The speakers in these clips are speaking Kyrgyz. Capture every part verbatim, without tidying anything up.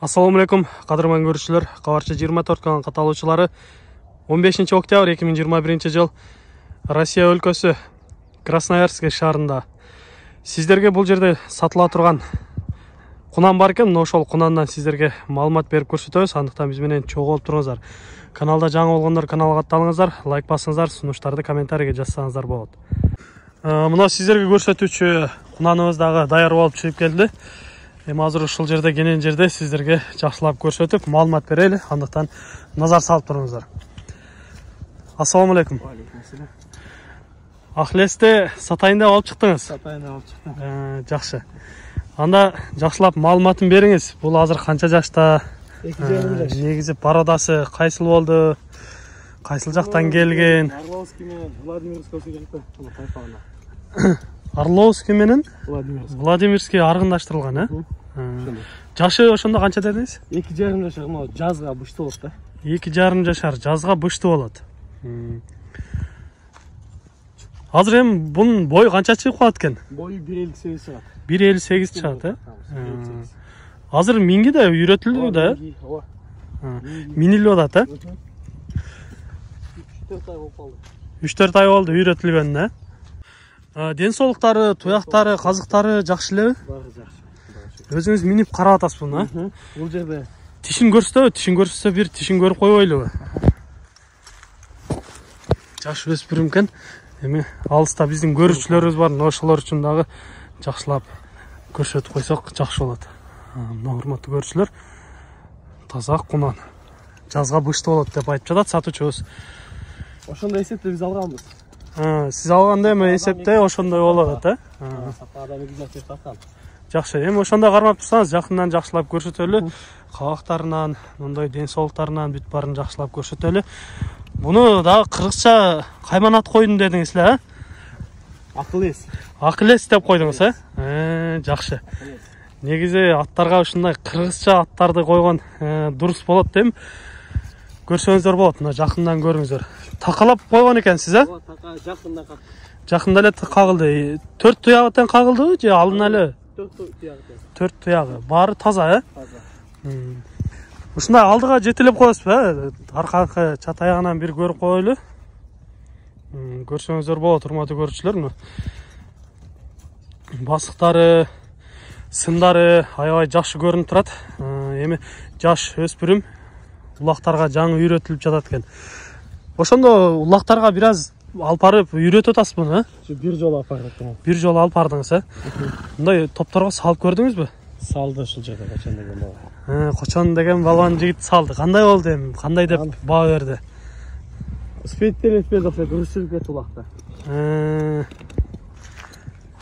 Assalamu alaikum, qadırman görüşçüler. Qavarçı жыйырма төрт kanal каталоочулары. он бешинчи октябрь эки миң жыйырма биринчи жыл Россия өлкөсү Красноярск шаарында. Сиздерге бул жерде сатыла турган кунан бар экен. Ошол кунандан сиздерге маалымат берип көрсөтөбүз. Андыктан биз менен чогуу болуп туруңуздар. Каналда жаңы болгондор каналга аттаныңыздар, лайк басыңыздар, сунуштарды комментарийге жазсаңыздар болот. Мына сиздерге көрсөтүүчү кунаныбыз дагы даяр болуп чыгып келди. Эми азыр ушул жерде кенен жерде сиздерге жакшылап көрсөтүп, маалымат берели. Андыктан назар салып туруңуздар. Ассаламу алейкум. Ахлесте сатайын деп алып чыктыңыз. Сатайын деп алып чыктым. Жакшы. Анда жакшылап маалыматын бериңиз. Бул азыр канча жашта? эки жарым жаш. Негизи породасы кайсыл болду? Кайсыл жактан келген? Орловский менен Владимирский келип бул тайпагына. Орловский менен Владимирский. Владимирский аргындаштырылган, э? Жашы ошондо канча дедиңиз? эки жарым жашар, могу жазга бышты болот да. эки жарым жашар, жазга бышты болот. Азыр эми бунун бою канча чыгып калат экен? Бою бир элүү сегиз чыгат. бир элүү сегиз чыгат, э? Азыр минги да үйрөтүлдү да, э? Ооба. Минилип атат, э? үч төрт ай болуп калды. үч төрт ай болду үйрөтүлгөнүнө, э? Ден соолуктары, туяктары, казыктары жакшы элеби? Баары жакшы. Өзүңүз минип карап атасызбы, э? Бул жерде Тишин көрсөтөбү? Тишин көрсөтсө бир тишин көрүп койбойлубу? Жаш өспүрүм экен. Эми алыста биздин көрүүчүлөрүбүз бар, ошолор үчүн дагы жакшылап көрсөтүп койсок жакшы болот. Мына урматтуу көрүүчүлөр, таза кунан. Жазга бышты болот деп айтып жатат сатуучубуз. ошондой эсепте биз алганбыз. Сиз алганда эми эсепте ошондой болот, э? Сапаада негизинен тарткан. Жакшы, эми ошондо кармап турсаңыз, жакындан жакшылап көрсөтөлү. Кабактарынан, мындай ден соолуктарынан бүт баарын жакшылап көрсөтөлү. Буну дагы кыргызча кайман ат койдум дедиңиз эле, э? Акылес. Акылес деп койдуңуз, э? Э, жакшы. Негизи аттарга ушундай кыргызча аттарды койгон дурус болот дейм. Көрсөңүздөр болот, мына жакындан көрүңүздөр. Такалап койгон экенсиз, э? Ооба, така жакында калды. Жакында эле кагылды. төрт туягы тең кагылдыбы же алдын эле? төрт туягы. төрт туягы. Баары таза, э? Таза. Ушундай алдыга жетелеп коесузбу, э? Аркаңкы чат аягынан бир көрүп коелу. Көрсөңүздөр болот, урматтуу көрүүчүлөр. Басыктары, сындары аябай жакшы көрүнүп турат. Эми жаш өспүрүм улактарга жаңы үйрөтүлүп жатат экен. Ошондо улактарга бир аз алып барып үйрөтүп атасызбы, э? Бир жолу алып бардым. Бир жолу алып бардыңыз, э? Мындай топторго салып көрдүңүзбү? Салды ушул жерде качан деген бала. Э, Кочон деген балбан жигит салды. Кандай болду эми? Кандай деп баа берди? Спейттер этпеді окшойт, үрүшүп кетти улакта. Э,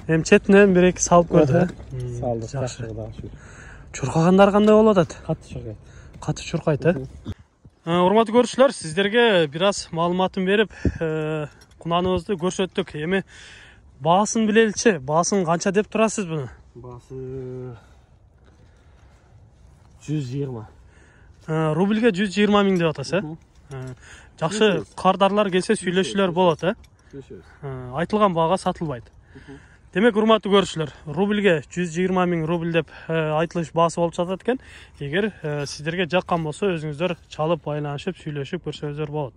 Эми четинен бир эки салып көрдү, э? Салды, жакшы. жакшы. Чуркагандар кандай болуп атат? Катты чуркайт. Катты чуркайт, э? Урматтуу көрүүчүлөр, сиздерге бир аз маалыматын берип, кунаныбызды көрсөттүк. Эми баасын билеличи, баасын канча деп турасыз буну? Баасы жүз жыйырма. Рубльге жүз жыйырма миң деп атасыз, э? Жакшы, кардарлар келсе сүйлөшүүлөр болот, э? Сүйлөшөбүз. Айтылган баага сатылбайт. Демек, урматтуу көрүүчүлөр, рубльге жүз жыйырма миң рубль деп айтылыш баасы болуп жатат экен. Эгер сиздерге жаккан болсо, өзүңүздөр чалып, байланышып, сүйлөшүп көрсөңүздөр болот.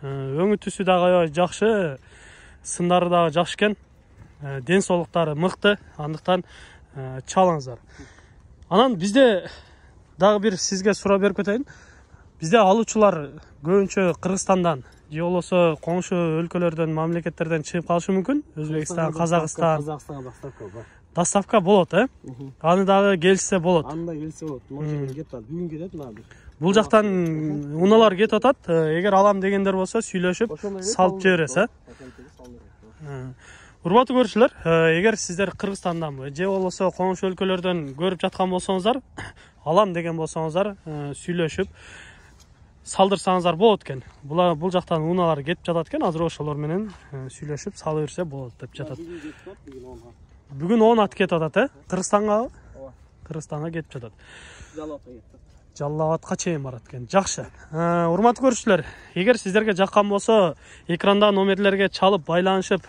Өңү түсү дагы аябай жакшы, сындары дагы жакшы экен. Ден соолуктары мыкты, андыктан чалыңыздар. Анан бизде дагы бир сизге суроо берип кетейин. Бизде алуучулар көбүнчө Кыргызстандан же болбосо коңшу өлкөлөрдөн, мамлекеттерден чыгып калышы мүмкүн. Өзбекстан, Казакстан, Казакстанга доставка бар. Доставка болот, э? Аны дагы келсе болот. Аны да келсе болот. Могу кетип атат. Бүгүн кетет мына бир. Бул жактан унаалар кетип атат. Эгер алам дегендер болсо, сүйлөшүп, салып жибересиз, э? Урматтуу көрүүчүлөр, эгер сиздер Кыргызстанданбы же болбосо коңшу өлкөлөрдөн көрүп жаткан болсоңуздар, алам деген болсоңуздар, сүйлөшүп салдырсаңыздар болот экен. Бул бул жактан унаалар кетип жатат экен. Азыр ошолор менен сүйлөшүп салып берсе болот деп жатат. Бүгүн он ат кетип атат, э? Кыргызстанга? Ооба. Кыргызстанга кетип жатат. Жалапка кетти. Жалал Абадка чейин барат экен. Жакшы. Урматтуу көрүүчүлөр, эгер сиздерге жаккан болсо, экранда номерлерге чалып, байланышып,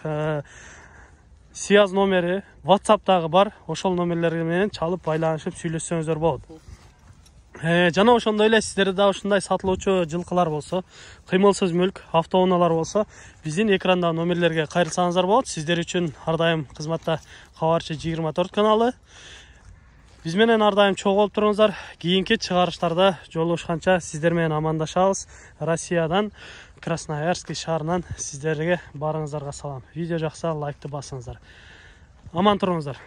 связь номери WhatsApp'тагы бар. Ошол номерлер менен чалып, байланышып, сүйлөшсөңүздөр болот. Э, жана ошондой эле сиздерде да ушундай сатылуучу жылкылар болсо, кыймылсыз мүлк, автоунаалар болсо, биздин экрандагы номерлерге кайрылсаңыздар болот. Сиздер үчүн ар дайым кызматта Кабарчы жыйырма төрт каналы. Биз менен ар дайым чогуу болуп туруңуздар. Кийинки чыгарыштарда жолугушканча сиздер менен амандашабыз. Россиядан, Красноярск шаарынан сиздерге барыңыздарга салам. Видео жакса лайкты басыңыздар. Аман туруңуздар.